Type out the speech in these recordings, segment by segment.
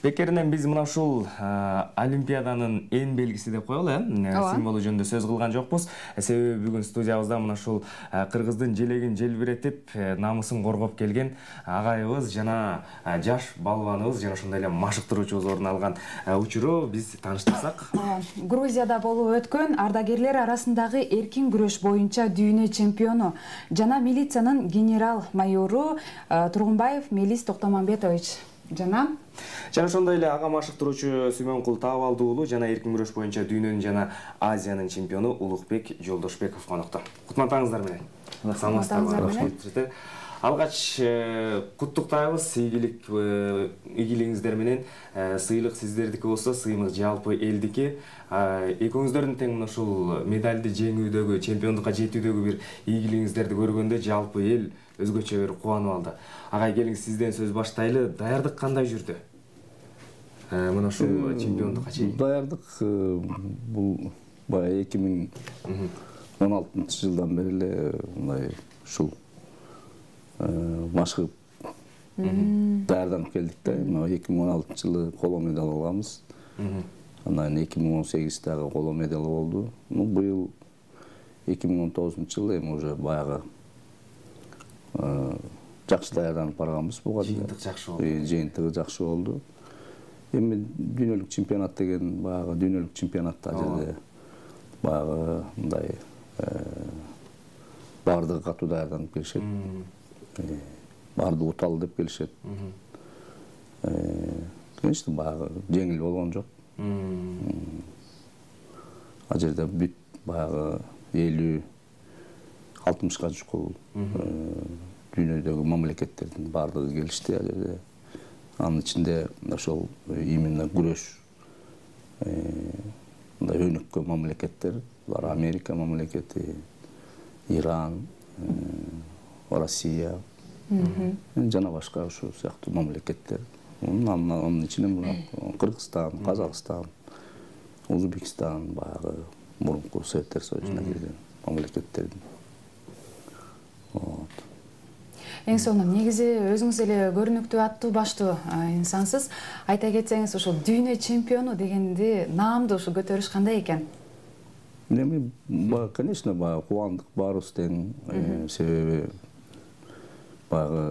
Бекеринен биз мына ушул Олимпиаданын эң белгиси деп коелу, символу жөнүндө сөз кылган жокпуз. Себеби бүгүн студиябызда мына ушул кыргыздын желегин желбиретип, намысын коргоп келген агайыбыз жана жаш балбаныбыз жана ошондой эле машыктыруучубуз орун алган учуру биз тааныштырсак. Грузияда болуп өткөн ардагерлер арасындагы эркин күрөш боюнча дүйнө чемпиону жана милициянын генерал-майору Тургунбаев Мелис Токтомамбетович жана ошондой эле ага машыктыруучу Сүймөнкул Таабалды уулу жана эркин күрөш боюнча дүйнөнүн жана Азиянын чемпиону Улукбек Жолдошбеков конокто. Кутмандыгыңыздар менен. Саламатсыздарбы. Алгач куттуктайбыз, ийгилигиңиздер менен. Сыйлык сиздердики болсо, сыймык жалпы элдики. Экөөңүздөрдүн тең мына ушул медалды жеңүүдөгү, чемпиондукка жетүүдөгү бир ийгилигиңиздерди көргөндө жалпы эл өзгөчө бир кубанып алды. Агай, келиңиз сизден сөз баштайлы. Даярдык кандай жүрдү? Мына ушул чемпиондукка чейин. Даярдык бул баягы 2016 жылдан бери эле мындай ушул машыгып даярданып келдик да. 2016 жылы коло медаль алганбыз. Анан 2018 дагы коло медаль болду. Быйыл 2019 жылы эми уже баягы жакшы даярданып барганбыз буга. Жыйынтык жакшы болду. Жыйынтыгы жакшы болду. Эми дүйнөлүк чемпионат деген баягы дүйнөлүк чемпионатта жерде баягы мындай баардыгы катуу даярданып келишет. Баардыгы уталы деп келишет. Конечно, баягы жеңил болгон жок. Ал жерде бүт баягы 50-60га жукул дүйнөдөгү мамлекеттердин баардыгы келишти ал жерде. Анын ичинде ошол именно күрөш мындай өнүккөн мамлекеттер, булар Америка мамлекети, Иран, Россия жана башка ушул сыяктуу мамлекеттер. Анын ичинде Кыргызстан, Казакстан, Өзбекстан баягы мурунку Советтер Союзуна кирген мамлекеттердин. Эң сонун негизи өзүңүз эле көрүнүктүү аттуу баштуу инсансыз. Айта кетсеңиз, ушул дүйнө чемпиону дегенди наамды ушу көтөрүш кандай экен? Эми конечно кубандык баарыбыз тең, себеби баягы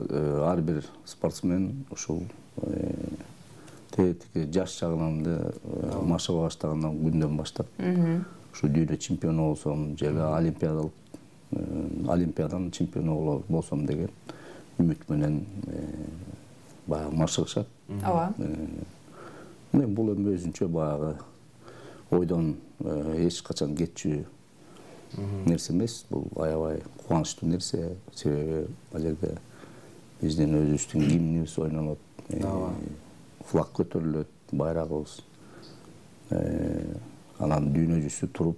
ар бир спортсмен ушул жаш чагынан машыга баштагандан күндөн баштап ушу дүйнө чемпиону болсом же олимпиаданын чемпиону болсом деген үмүт менен баягы машыгышат. Ооба. Бул эми өзүнчө баягы ойдон эч качан кетчү нерсе эмес. Бул аябай кубанычтуу нерсе. Себеби ал жерде биздин өзүбүздүн гимнибиз ойнолот, флаг көтөрүлөт, байрагыбыз. Анан дүйнө жүзү туруп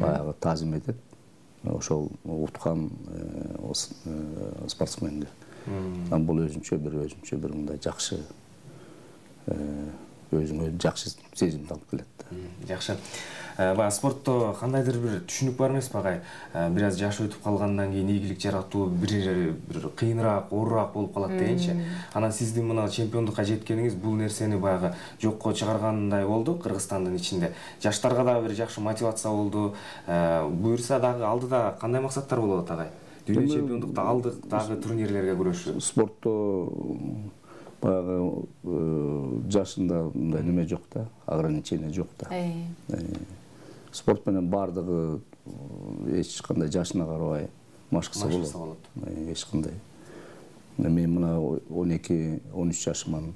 баягы таазим этет ошол уткан спортсменге. Бул өзүнчө бир мындай жакшы өзүңө жакшы сезимди алып келет. Жакшы. Баягы спортто кандайдыр бир түшүнүк бар эмеспи агай? Бир аз жаш өтүп калгандан кийин ийгилик жаратуу бир кыйыныраак, оорураак болуп калат дегенчи. Анан сиздин мына чемпиондукка жеткениңиз бул нерсени баягы жокко чыгаргандай болду Кыргызстандын ичинде. Жаштарга дагы бир жакшы мотивация болду. Буюрса дагы алдыда кандай максаттар болот агай? Дүйнө чемпиондукта алдык дагы турнирлерге күрөшүү. Спортто баягы жашында мындай неме жок да, ограничение жок да. Спорт менен баардыгы эч кандай жашына карабай машыкса болот. Эч кандай. Мен мына 12-13 жашыман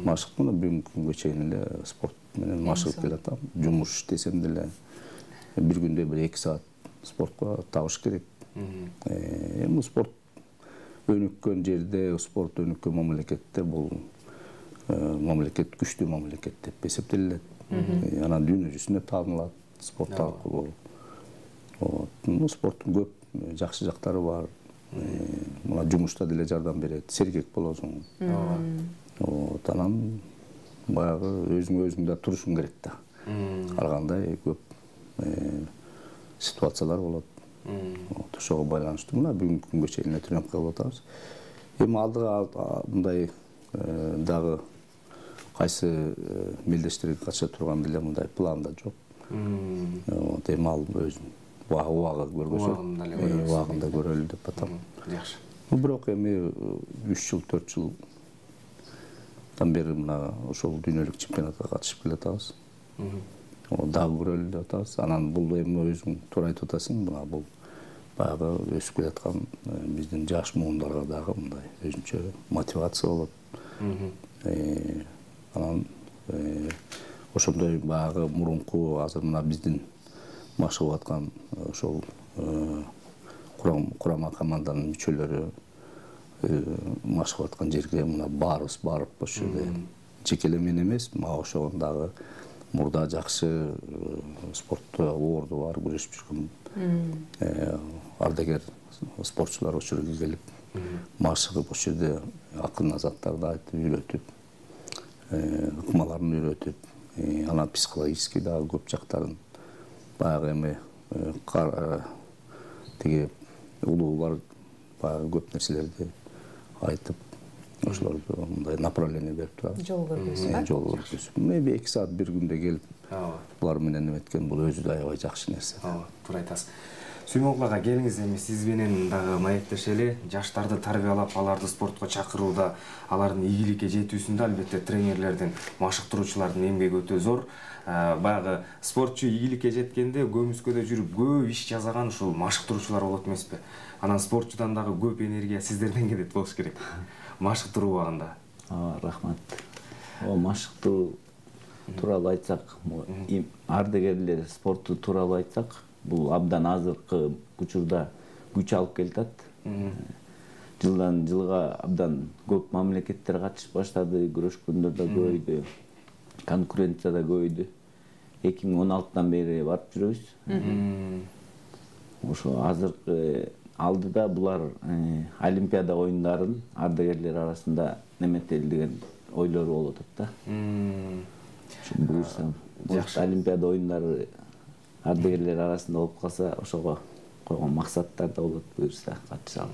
машыктым, бүгүнкү күнгө чейин эле спорт менен машыгып келатам. Жумуш иштесем деле бир күндө 1-2 саат спортко табыш керек. Эми спорт өнүккөн жерде, спорт өнүккөн мамлекетте бул мамлекет күчтүү мамлекет деп эсептелет. Анан дүйнө жүзүнө таанылат спорт аркылуу. Спорттун көп жакшы жактары бар. Мына жумушта деле жардам берет, сергек болосуң. Анан баягы өзүң да турушуң керек да. Ар кандай көп ситуациялар болот. Ошого байланыштуу мына бүгүнкү күнгө чейин тренировка кылып атабыз. Эми алдыга мындай дагы кайсы мелдештерге катыша турган деле мындай планда жок. Эми ал өзүнүн убагы көргөзөт. Убагында көрөлү деп атам. Жакшы. Бирок эми 3 жыл 4 жылдан бери мына ошол дүйнөлүк чемпионатка катышып келатабыз. Дагы көрөлү деп атабыз. Анан бул эми өзүң туура айтып атасың, мына бул баягы өсүп келаткан биздин жаш муундарга дагы мындай өзүнчө мотивация болот. Анан ошондой баягы мурунку азыр мына биздин машыгып аткан ошол курама команданын мүчөлөрү машыгып аткан жерге мына баарыбыз барып ошол жерде жекелей мен эмес, мага ошогон дагы мурда жакшы спортто орду бар күрөшүп жүргөн ардагер спортчулар ошол жерге келип машыгып ошол жерде акыл азаттарды айтып үйрөтүп, ыкмаларын үйрөтүп, анан психологический дагы көп жактарын баягы эми тиги улуулар баягы көп нерселерди айтып, ошолорду мындай направление берип турат. Жол көргөзүп. Жол көргөзүп. Эми 2 саат бир күндө келип, булар менен эметкен бул өзү да аябай жакшы нерсе. Туура айтасыз. Сүймөнгул ага, келиңиз эми сиз менен дагы маектешели. Жаштарды тарбиялап, аларды спортко чакырууда, алардын ийгиликке жетүүсүндө албетте тренерлердин, машыктыруучулардын эмгеги өтө зор. Баягы спортчу ийгиликке жеткенде көмүскөдө жүрүп көп иш жасаган ушул машыктыруучулар болот эмеспи? Анан спортчудан дагы көп энергия сиздерден келет болуш керек. Машыктыруу убагында. Рахмат. Машыктыруу тууралуу айтсак, ардагерлер спорту тууралуу айтсак, бул абдан азыркы учурда күч алып келатат. Жылдан жылга абдан көп мамлекеттер катышып баштады, күрөшкөндөр да көбөйдү, конкуренция да көбөйдү. 2016-дан бери барып жүрөбүз. Ошо азыркы алдыда булар Олимпиада оюндарын ардагерлер арасында неметели деген ойлору болуп атат да. Буюрса, Олимпиада оюндары ардагерлер арасында болуп калса, ошого койгон максаттар да болот, буюрса катышалы.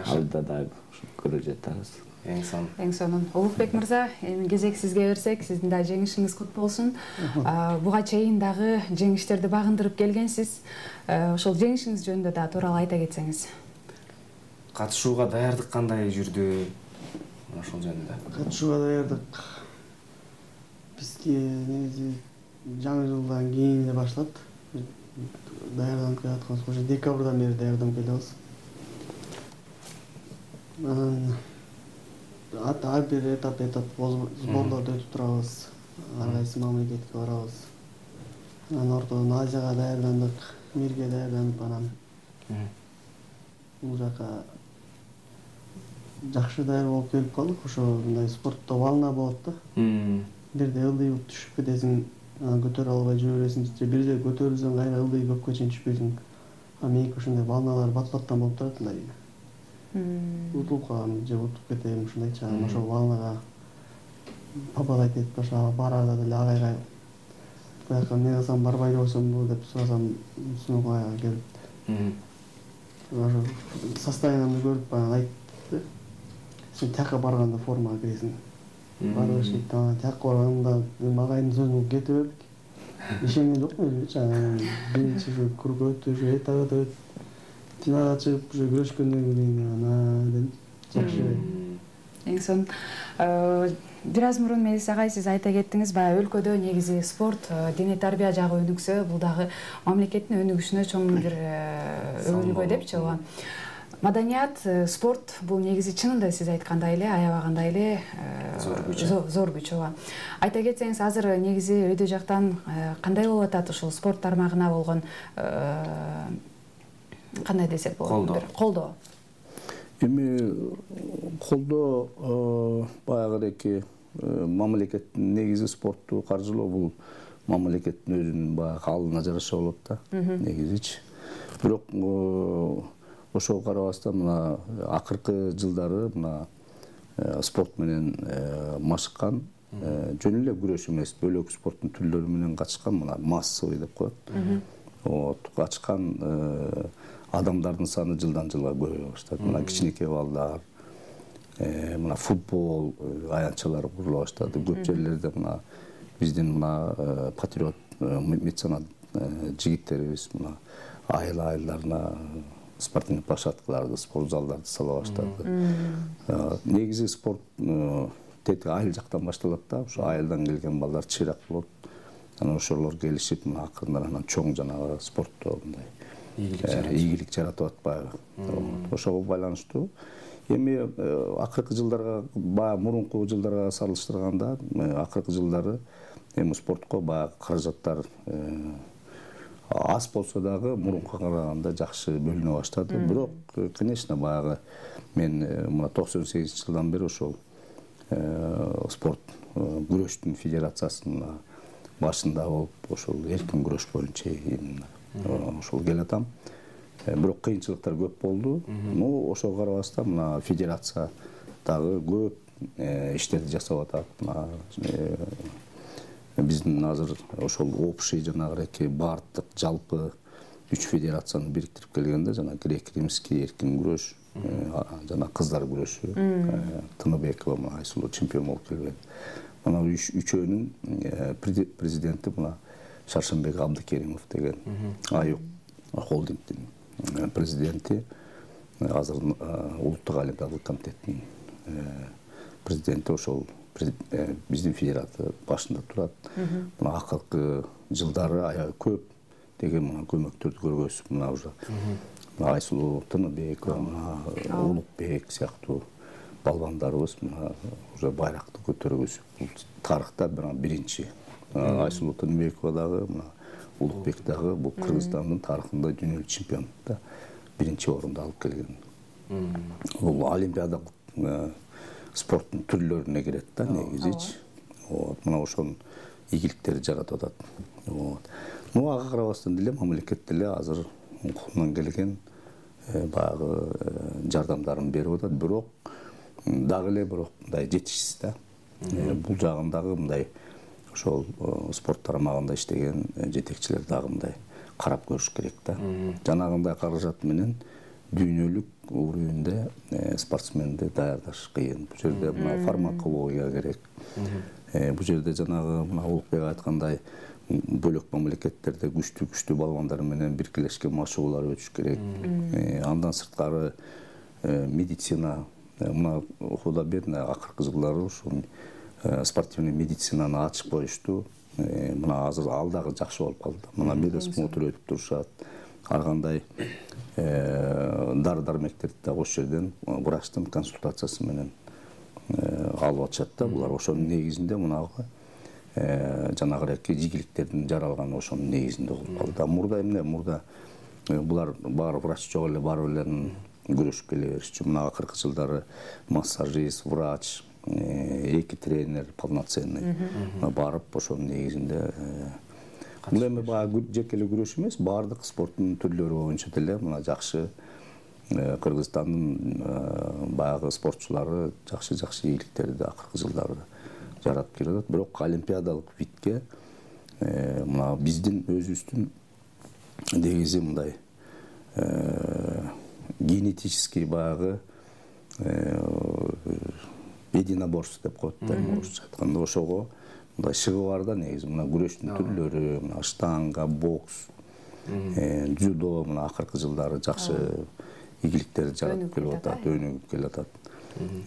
Алдыда дагы көрө жатабыз. Эң сонун. Улукбек мырза, эми кезек сизге берсек, сиздин да жеңишиңиз кут болсун. Буга чейин дагы жеңиштерди багындырып келгенсиз. Ошол жеңишиңиз жөнүндө да тууралуу айта кетсеңиз. Катышууга даярдык кандай жүрдү? Ошол жөнүндө. Катышууга даярдык бизге негизи жаңы жылдан кийин эле башталат. Даярданып келатканбыз. Ошо декабрдан бери даярданып келебиз. Анан ар бир этап сборлорду өтүп турабыз. Ар кайсы мамлекетке барабыз. Анан ортодон Азияга даярдандык, мирге даярданып, анан бул жака жакшы даяр болуп келип калдык. Ошо мындай спортто волна болот да. Бирде ылдый болуп түшүп кетесиң, анан көтөрө албай жүрө бересиң, же бирде көтөрүлсөң кайра ылдый көпкө чейин түшпөйсүң. Меники ошондой волналар бат-баттан болуп турат, мындай. Утулуп калам, же утуп кетем, ушундайча. Анан ошол волнага попадать этип барарда деле агайга бияка эмне кылсам барбай койсомбу деп сурасам, Сүймөнгул келип. Ошо состояниемди көрүп баягы айтты. Сен тияка барганда формага киресиң. Барыш дейт, анан тияка барганда агайдын сөзүн кете бердик. Ишенген жокмун өзүмчө. Анан биринчи круг өтүп, этап өтүп, финалга чыгып, уже күрөшкөндөн кийин анан дедим, жакшы. Эң сонун. Бир аз мурун Мелис агай сиз айта кеттиңиз, баягы өлкөдө негизи спорт, дене тарбия жагы өнүксө, бул дагы мамлекеттин өнүгүшүнө чоң бир өбөлгө депчи, ооба. Маданият, спорт бул негизи чынында сиз айткандай эле, аябагандай эле зор күч, ооба. Айта кетсеңиз, азыр негизи өйдө жактан кандай болуп атат ушул спорт тармагына болгон кандай десек болот? Колдоо. Эми колдоо баягы мамлекеттин негизи спортту каржылоо, бул мамлекеттин өзүнүн баягы алына жараша болот да, негизичи. Бирок ошого карабастан мына акыркы жылдары мына спорт менен машыккан, жөн эле күрөш эмес, бөлөк спорттун түрлөрү менен катышкан, мына массовый деп коет. Катышкан адамдардын саны жылдан жылга көбөйө баштады. Мына кичинекей балдар, мына футбол аянтчалары курула баштады. Көп жерлерде мына биздин мына патриот меценат жигиттерибиз мына айыл-айылдарына спортивный площадкаларды, спорт залдарды сала баштады. Негизи спорт тети айыл жактан башталат да, ошо айылдан келген балдар чыйрак болот. Анан ошолор келишип мына акырындан анан чоң жанагы спортто мындай ийгилик жаратып атпайбы. Ошого байланыштуу. Эми акыркы жылдарга баягы мурунку жылдарга салыштырганда акыркы жылдары эми спортко баягы каражаттар аз болсо дагы мурункуга караганда жакшы бөлүнө баштады. Бирок, конечно, баягы мен мына 98-жылдан бери ошол спорт күрөштүн федерациясынын башында болуп, ошол эркин күрөш боюнча ошол келатам. Бирок кыйынчылыктар көп болду. Ошого карабастан мына федерация дагы көп иштерди жасап атат. Мына биздин азыр ошол общий жанагы бардык жалпы 3 федерацияны бириктирип келгенде жана грек-римский эркин күрөш, жана кыздар күрөшү, Тыныбекова мына Айсулуу чемпион болуп келген. Мына үчөөнүн президенти мына Шаршенбек Абдыкеримов деген Аюк холдингдин президенти, азыр улуттук олимпиадалык комитеттин президенти ошол биздин федерация башында турат. Мына акыркы жылдары аябай көп деген мына көмөктөрдү көргөзүп, мына уже Айсулуу Тыныбекова, мына Улукбек сыяктуу балбандарыбыз мына уже байракты көтөргөзүп, тарыхта биринчи. Айсулуу Тыныбекова дагы, мына Улукбек дагы бул Кыргызстандын тарыхында дүйнөлүк чемпион да биринчи орунду алып келген. Бул олимпиадалык спорттун түрлөрүнө кирет да негизичи. Мына ошонун ийгиликтерди жаратып атат. Ага карабастан деле мамлекет деле азыр колунан келген баягы жардамдарын берип атат. Бирок дагы эле мындай жетишсиз да. Бул жагындагы мындай ошол спорт тарамагында иштеген жетекчилер дагы мындай карап көрүш керек да. Жанагындай каражат менен дүйнөлүк уровеньде спортсменди даярдаш кыйын. Бул жерде мына фармакология керек. Бул жерде жанагы мына Улукбек айткандай бөлөк мамлекеттерде күчтүү балбандар менен биргелешкен машыгуулар өтүш керек. Андан сырткары медицина мына Худа бедна акыркы жылдары ушул спортивный медицинаны ачып коюшту. Мына азыр ал дагы жакшы болуп калды. Мына медосмотр өтүп турушат. Ар кандай дары-дармектерди да ошол жерден врачтын консультациясы менен алып атышат да. Булар ошонун негизинде мунагы жанагы ийгиликтердин жаралганы ошонун негизинде болуп калды. Мурда эмне? Мурда булар баары врач жок эле, баары эле күрөшүп келе беришчү. Мына акыркы жылдары массажист, врач, эки тренер полноценный барып ошонун негизинде бул эми баягы жеке эле күрөш эмес, баардык спорттун түрлөрү боюнча деле мына жакшы Кыргызстандын баягы спортчулары жакшы ийгиликтерди акыркы жылдары жаратып келатат. Бирок олимпиадалык видке мына биздин өзүбүздүн негизи мындай генетический баягы единоборство деп коет да, орусча айтканда. Ошого мындай шыгы бар да негизи. Мына күрөштүн түрлөрү, мына штанга, бокс, дзюдо мына акыркы жылдары жакшы ийгиликтерди жаратып келип атат, өнүгүп келатат.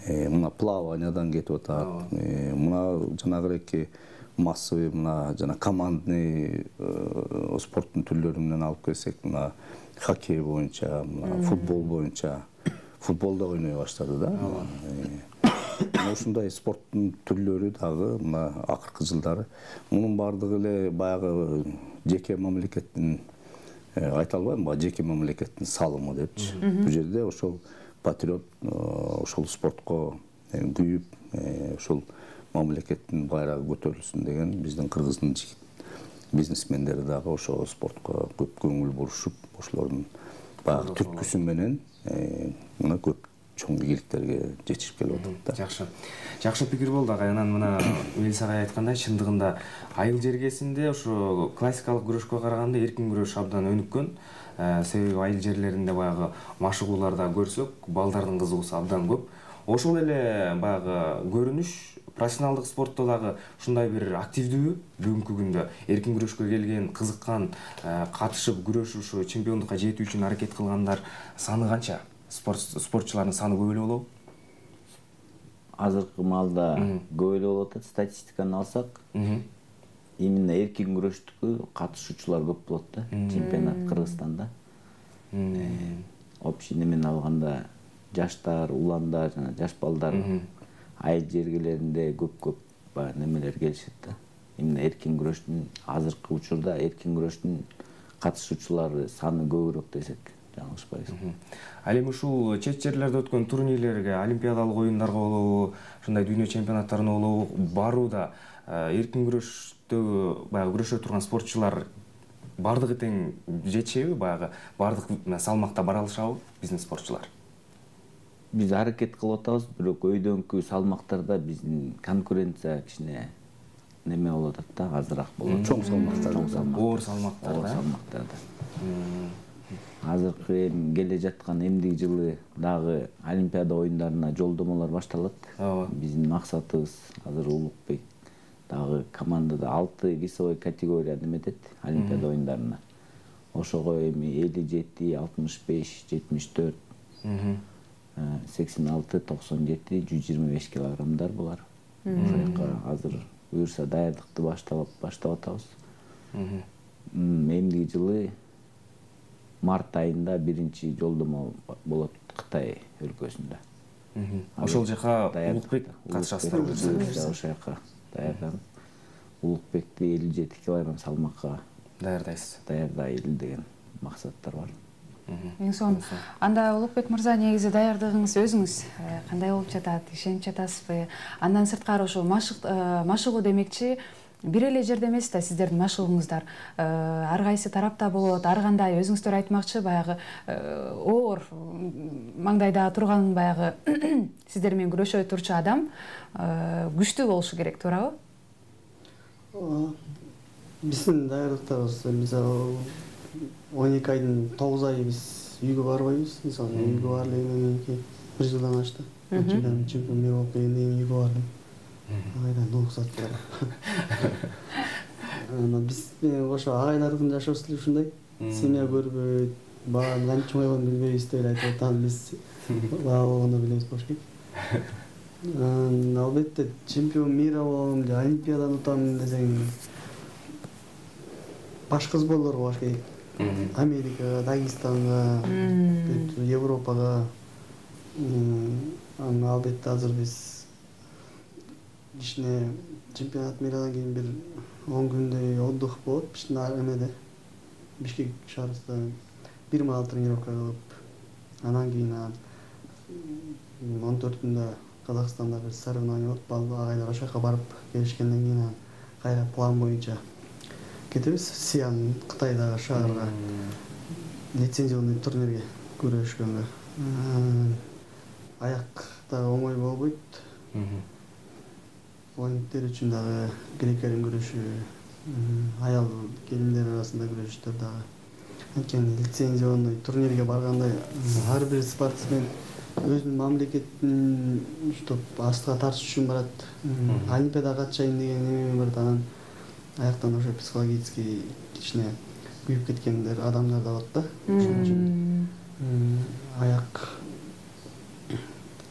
Мына плаваниядан кетип атат. Мына жанагы массовый мына жана командный спорттун түрлөрү менен алып келсек, мына хоккей боюнча, мына футбол боюнча, футболда ойной баштады да. Ушундай спорттун түрлөрү дагы мына акыркы жылдары мунун баардыгы эле баягы жеке мамлекеттин айта албайм, жеке мамлекеттин салымы депчи. Бул жерде ошол патриот ошол спортко күйүп, ошол мамлекеттин байрагы көтөрүлсүн деген биздин Кыргыздын бизнесмендери дагы ошол спортко көп көңүл бурушуп, ошолордун баягы түрткүсү менен мына көп чоң ийгиликтерге жетишип келип атат да. Жакшы пикир болду агай. Анан мына Мелис агай айткандай, чындыгында айыл жергесинде ошо классикалык күрөшкө караганда эркин күрөш абдан өнүккөн. Себеби айыл жерлеринде баягы машыгууларда көрсөк, балдардын кызыгуусу абдан көп. Ошол эле баягы көрүнүш профессионалдык спортто дагы ушундай бир активдүүбү бүгүнкү күндө эркин күрөшкө келген, кызыккан, катышып күрөшүп ушу чемпиондукка жетүү үчүн аракет кылгандар саны канча? Спортчулардын саны көп эле болобу? Азыркы маалда көп эле болуп атат. Статистиканы алсак, именно эркин күрөштүкү катышуучулар көп болот да, чемпионат Кыргызстанда. Общий немени алганда жаштар, уландар жана жаш балдар айыл жергелеринде көп баягы немелер келишет да. Именно эркин күрөштүн азыркы учурда эркин күрөштүн катышуучулары саны көбүрөөк десек жаңылышпайбыз. Ал эми ушул чет жерлерде өткөн турнирлерге, олимпиадалык оюндарга болобу, ушундай дүйнө чемпионаттарына болобу барууда эркин күрөштөгү баягы күрөшө турган спортчулар бардыгы тең жетишеби, баягы бардык салмакта бара алышабы биздин спортчулар? Биз аракет кылып атабыз, бирок өйдөнкү салмактарда биздин конкуренция кичине неме болуп атат да, азыраак болот. Чоң салмактарда. Оор салмактарда. Азыркы келе жаткан эмдиги жылы дагы Олимпиада оюндарына жолдомолор башталат. Биздин максатыбыз азыр Улукбек дагы командада 6 весовой категория неметет Олимпиада оюндарына. Ошого эми 57, 65, 74, 86, 97, 125 килограммдар булар. Ошол жака азыр буюрса даярдыкты баштап атабыз. Эмдиги жылы март айында биринчи жолдомо болот Кытай өлкөсүндө. Ошол жака Улукбек катышасыздар. Ошол жака даярданып, Улукбекти 57 килограмм салмакка даярдайлы деген максаттар бар. Эң сонун. Анда Улукбек мырза, негизи даярдыгыңыз өзүңүз кандай болуп жатат? Ишенип жатасызбы? Андан сырткары ошо машыгуу демекчи бир эле жерде эмес да сиздердин машыгууңуздар. Ар кайсы тарапта болот. Ар кандай өзүңүздөр айтмакчы, баягы оор маңдайда турган баягы сиздер менен күрөшө турчу адам күчтүү болушу керек, туурабы? Биздин даярдыктарыбыз мисалы 12 айдын 9 айы биз үйгө барбайбыз. Мисалы үйгө бардыгынан кийин 1 жылдан ашты. Чемпион мир болуп келгенден кийин үйгө бардым. Айдан уруксат бар. Биз ошо агайлардын жашоосу деле ушундай. Семья көрбөйт, баарын кантип чоңойгонун билбейбиз деп айтып атам. Биз бала болгондо билебиз болуш керек. Албетте чемпион мира болом же олимпиаданы утам десең башка сборлорго барыш керек. Америкага, Дагестанга, Европага. Албетте азыр биз кичине чемпионат мирадан кийин бир 10 күндөй отдых болот биздин эмеде. Бишкек шаарында бир маал тренировка кылып, анан кийин 14-күндө Казакстанда бир соревнование болот. Агайлар ошол жака барып келишкенден кийин кайра план боюнча кетебиз. Сиан Кытайдагы шаарга лицензионный турнирге күрөшкөнгө. Аякта оңой болбойт. Оюндар үчүн дагы грек-рим күрөшү, аял келиндер арасында күрөшүштөр дагы. Анткени лицензионный турнирге барганда ар бир спортсмен өзүнүн мамлекетин уштап астыга тартыш үчүн барат. Олимпиадага катышайын деген эме бар. Анан аяктан ошо психологически кичине күйүп кеткендер адамдар да болот да. Ошон үчүн аяк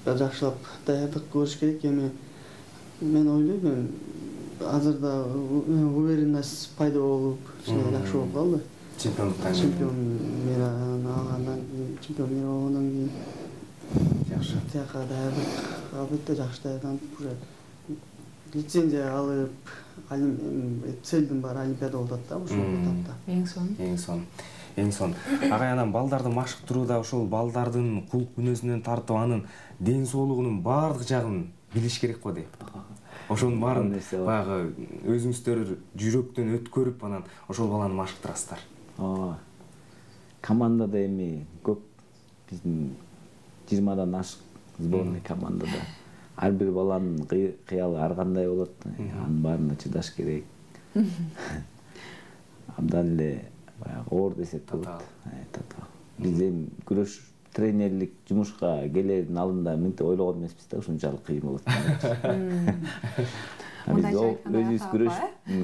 жакшылап даярдык көрүш керек. Эми мен ойлойм, азырда уверенность пайда болуп, жакшы болуп калды. Чемпион мира алгандан кийин, чемпион мира болгондон кийин жакшы. Тияка даярдык албетте жакшы даярданып, уже лицензия алып, целдин баары олимпиада болуп атат да, ошол этапта. Эң сонун. Агай, анан балдарды машыктырууда ошол балдардын кулк мүнөзүнөн тартып анын ден соолугунун баардык жагын билиш керек го дейм. Ошонун баарын баягы өзүңүздөр жүрөктөн өткөрүп анан ошол баланы машыктырасыздар. Командада эми көп биздин 20дан ашык сборный командада. Ар бир баланын кыялы ар кандай болот. Анын баарына чыдаш керек. Абдан эле баягы оор десек болот. Биз эми күрөш тренерлик жумушка келердин алдында мынтип ойлогон эмеспиз да, ушунчалык кыйын болот. Биз өзүбүз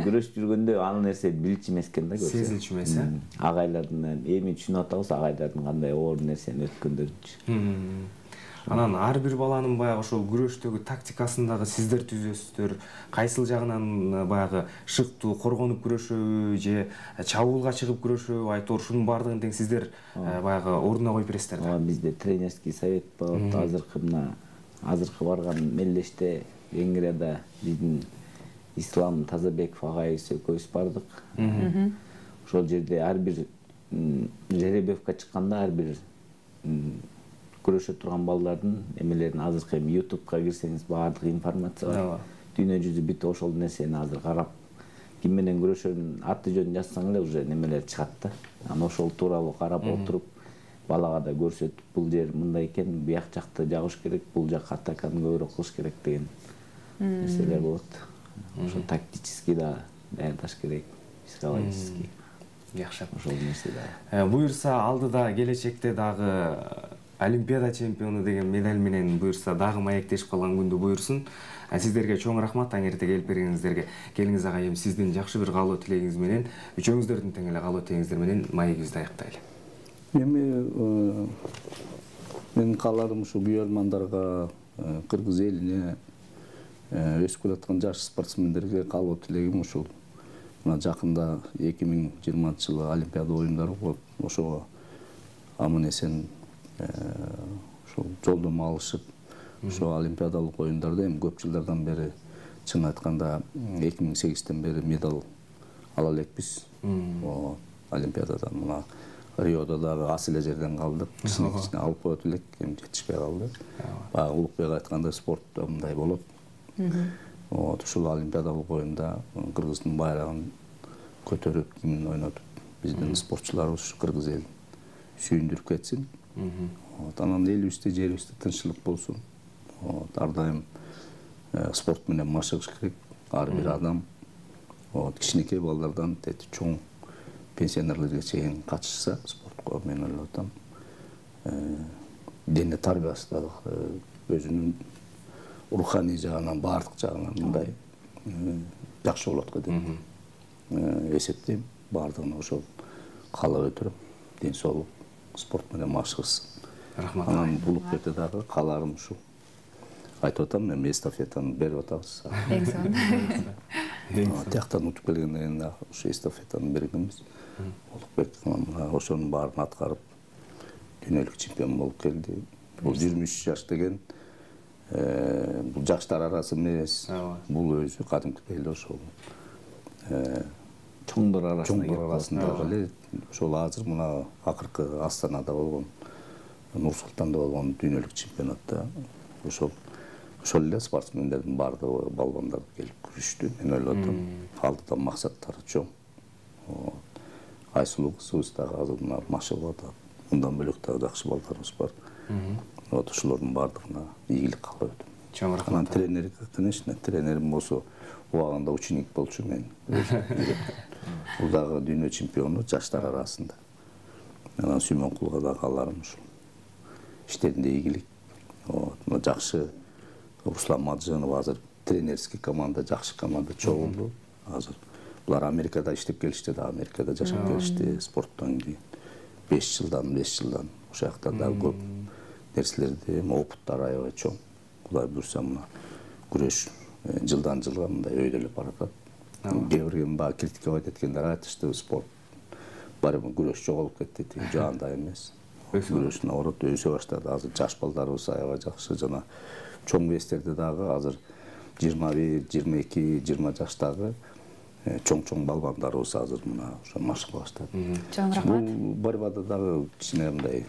күрөшүп жүргөндө ал нерсе билчү эмес экен да, көрсө. Сезилчү эмес, Агайлардын эми түшүнүп атабыз, агайлардын кандай оор нерсени өткөндөрүнчү. Анан ар бир баланын баягы ошол күрөштөгү тактикасын дагы сиздер түзөсүздөр. Кайсыл жагынан баягы шыктуу коргонуп күрөшөбү же чабуулга чыгып күрөшөбү, айтор ушунун баардыгын тең сиздер баягы ордуна коюп бересиздер да. Бизде тренерский совет болот. Азыркы барган мелдеште Венгрияда биздин Ислам Тазабеков агайыбыз экөөбүз бардык. Ошол жерде ар бир жеребьевка чыкканда ар бир күрөшө турган балдардын эмелерин азыркы эми YouTube'га кирсеңиз баардык информация бар. Дүйнө жүзү бүт ошол нерсени азыр карап, ким менен күрөшөрүн аты жөнүн жазсаң эле уже немелер чыгат да. Анан ошол тууралуу карап отуруп, балага да көрсөтүп, бул жер мындай экен, бияк жакты жабыш керек, бул жак атаканы көбүрөөк кылыш керек деген нерселер болот. Ошо тактический да даярдаш керек, психологический. Жакшы. Ошол нерсе да. Буюрса алдыда келечекте дагы Олимпиада чемпиону деген медаль менен буюрса дагы маектешип калган күндү буйрсун. Сиздерге чоң рахмат таң эрте келип бергениңиздерге. Келиңиз агайым, сиздин жакшы бир каалоо тилегиңиз менен, үчөөңүздөрдүн тең эле каалоо тилегиңиздер менен маегибизди аяктайлы. Эми менин кааларым ушу күйөрмандарга, кыргыз элине, өсүп келаткан жаш спортсмендерге каалоо тилегим ушул. Мына жакында 2020-жылы Олимпиада оюндары болот. Ошого аман эсен ошол жолдомо алышып, ошо олимпиадалык оюндарда эми көп жылдардан бери, чын айтканда 2008-тен бери медаль ала элекпиз. Олимпиададан мына Риодо дагы ас эле жерден калдык. Кичине алып коет элек, эми жетишпей калды. Баягы Улукбек айткандай спортто мындай болот. Ушул олимпиадалык оюнда Кыргыздын байрагын көтөрүп, кимин ойнотуп, биздин спортчуларыбыз ушу кыргыз элин сүйүндүрүп кетсин. Анан элибизде, жерибизде тынччылык болсун. Ар дайым спорт менен машыгыш керек. Ар бир адам кичинекей балдардан чоң пенсионерлерге чейин катышса спортко, мен ойлоп атам, дене тарбиясы да өзүнүн руханий жагынан, баардык жагынан мындай жакшы болот го деп эсептейм. Баардыгына ошол каалап өтүрөм. Ден соолук, спорт менен машыгышсын. Рахмат. Анан Улукбекке дагы кааларым ушул. Айтып атам, эми эстафетаны берип атабыз. Эң сонун. Тияктан утуп келгенден кийин дагы ушу эстафетаны бергенбиз. Улукбек ошонун баарын аткарып, дүйнөлүк чемпион болуп келди. Бул 23 жаш деген бул жаштар арасы эмес. Бул өзү кадимкидей эле ошол чоңдор арасында эле ошол азыр мына акыркы Астанада болгон, Нур Султанда болгон дүйнөлүк чемпионатта ошол эле спортсмендердин баардыгы балбандар келип күрөштү. Мен ойлоп атам, алдыда максаттары чоң. Айсулуу кызыбыз дагы азыр мына машыгып атат. Мындан бөлөк дагы жакшы балдарыбыз бар. Ошолордун баардыгына ийгилик каалап өтөм. Чоң рахмат. Анан тренерге, конечно, тренерим болсо убагында ученик болчу мен. Бул дагы дүйнө чемпиону жаштар арасында. Анан Сүймөнкулга дагы кааларым ушул. Иштеринде ийгилик. Мына жакшы Руслан Маджанов азыр тренерский команда, жакшы команда чогулду. Азыр булар Америкада иштеп келишти да, Америкада жашап келишти спорттон кийин. 5 жылдан ошол жакта дагы көп нерселерди, опыттары аябай чоң. Кудай буйрса мына күрөш жылдан жылга мындай өйдөлөп баратат. Кээ бир баягы критиковать эткендер айтышты, спорт барып күрөш жоголуп кетти деген жаанда эмес. Күрөш наоборот өсө баштады. Азыр жаш балдарыбыз аябай жакшы, жана чоң вестерде дагы азыр 21, 22, 20 жаштагы чоң балбандарыбыз азыр мына ошо машыга баштады. Чоң рахмат. Бул борьбада дагы кичине мындай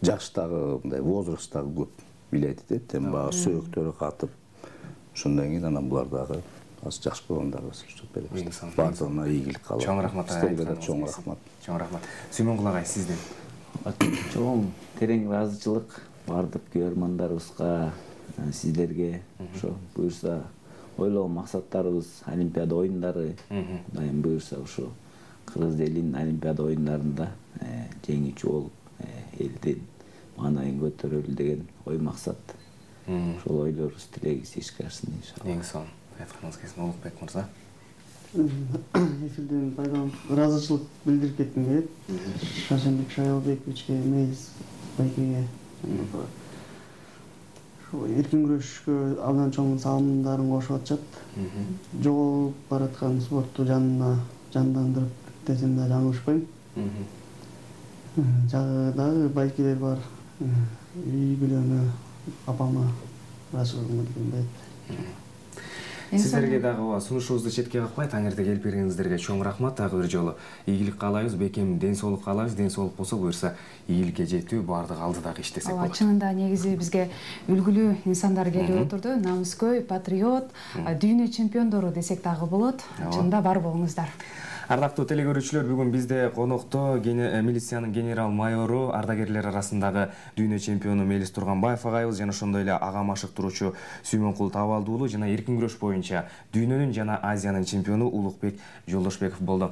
жаштагы мындай возраст дагы көп билет этет. Эми баягы сөөктөрү катып, ошондон кийин анан булар дагы азыр жакшы балбандарыбыз уштуп беребиз. Баардыгына ийгилик каалайм. Чоң рахмат. Сиздерге да чоң рахмат. Чоң рахмат. Сүймөнкул агай, сизден. Чоң терең ыраазычылык баардык күйөрмандарыбызга, сиздерге. Ошо буюрса ойлогон максаттарыбыз Олимпиада оюндары, дайым буюрса ошо кыргыз элинин Олимпиада оюндарында жеңүүчү болуп, элдин маанайын көтөрөлү деген ой максат. Ошол ойлорубуз тилегибиз ишке ашсын иншалла. Эң сонун айтканыңыз келсин Улукбек мырза. Эфирден пайдаланып ыраазычылык билдирип кетким келет. Шаршенбек Шайлбековичке, Мейис байкеге эркин күрөшкө абдан чоң салымдарын кошуп атышат. Жоголуп бараткан спортту жандандырып десем да жаңылышпайм. Жагы дагы байкелер бар. Үй бүлөмө, апама ырашыгым келет. Сиздерге дагы сунушубузду четке какпай таңертең келип бергениңиздерге чоң рахмат. Дагы бир жолу ийгилик каалайбыз, бекем ден соолук каалайбыз. Ден соолук болсо буюрса ийгиликке жетүү баардыгы алдыдагы иш десек болот. Чынында негизи бизге үлгүлүү инсандар келип отурду. Намыскөй, патриот, дүйнө чемпиондору десек дагы болот. Чынында бар болуңуздар. Ардактуу телекөрүүчүлөр, бүгүн бизде конокто милициянын генерал майору, ардагерлер арасындагы дүйнө чемпиону Мелис Турганбаев агайыбыз жана ошондой эле ага машыктыруучу Сүймөнкул Табалды уулу жана эркин күрөш боюнча дүйнөнүн жана Азиянын чемпиону Улукбек Жолдошбеков болду.